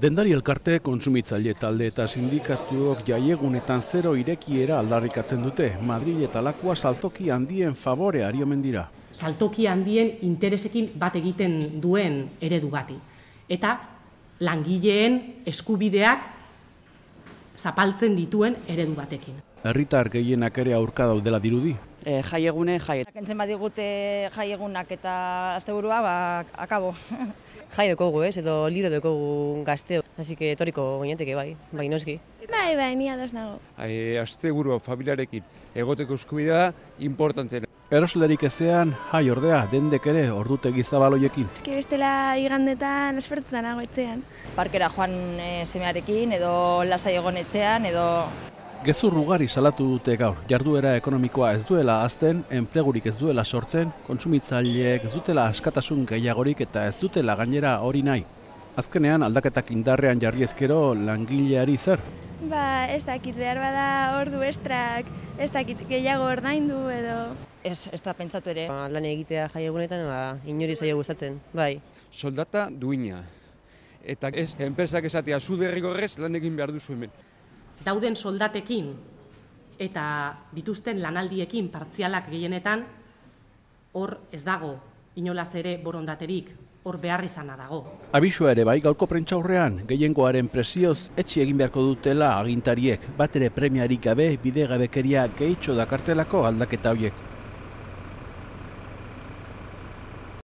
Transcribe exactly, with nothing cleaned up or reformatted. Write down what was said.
Dendari elkarte, kontsumitzaile talde eta sindikatuok jaiegunetan zero irekiera aldarrikatzen dute. Madrid eta Lakua saltoki handien favore ari omen dira. Saltoki handien interesekin bat egiten duen eredu bati. Eta langileen eskubideak zapaltzen dituen eredu batekin. Herritar gehienak ere aurka daudela dirudi. E, jaiegune, jai. Kentzen badigute jaiegunak eta asteburua, ba, akabo. Jai dekogu, ez, edo liro dekogu gazteo. Así que etoriko gineateke bai, bai noski. Bai, bai, ni ados nago. Ai, asteburua familiarekin egoteko eskubidea importantena. Eroslerik ezean, jai ordea, dendek ere ordutegi zabaloiekin. Eske bestela igandetan espertzen nago etxean. Parkera joan e, semearekin edo lasai egon etxean edo... Gezur ugari salatu dute gaur, jarduera ekonomikoa ez duela hazten, enplegurik ez duela sortzen, kontsumitzaileek ez dutela askatasun gehiagorik eta ez dutela gainera hori nahi. Azkenean aldaketak indarrean jarri ezkero langileari zer? Ba, ez dakit behar bada ordu estrak, ez dakit gehiago ordaindu edo... Ez, ez da pentsatu ere. Ba, lan egitea jaiegunetan, ba, inori zaio gustatzen, bai. Soldata duina. Eta ez, enpresak esatea zu derrigorrez lan egin behar duzu hemen. Dauden soldatekin eta dituzten lanaldiekin partzialak gehienetan, hor ez dago inolaz ere borondaterik, hor behar izana dago. Abisua ere bai gaurko prentsaurrean, gehiengoaren presioz etxi egin beharko dutela agintariek, bat ere premiarik gabe bidegabekeria gehitxo dakartelako aldaketa horiek.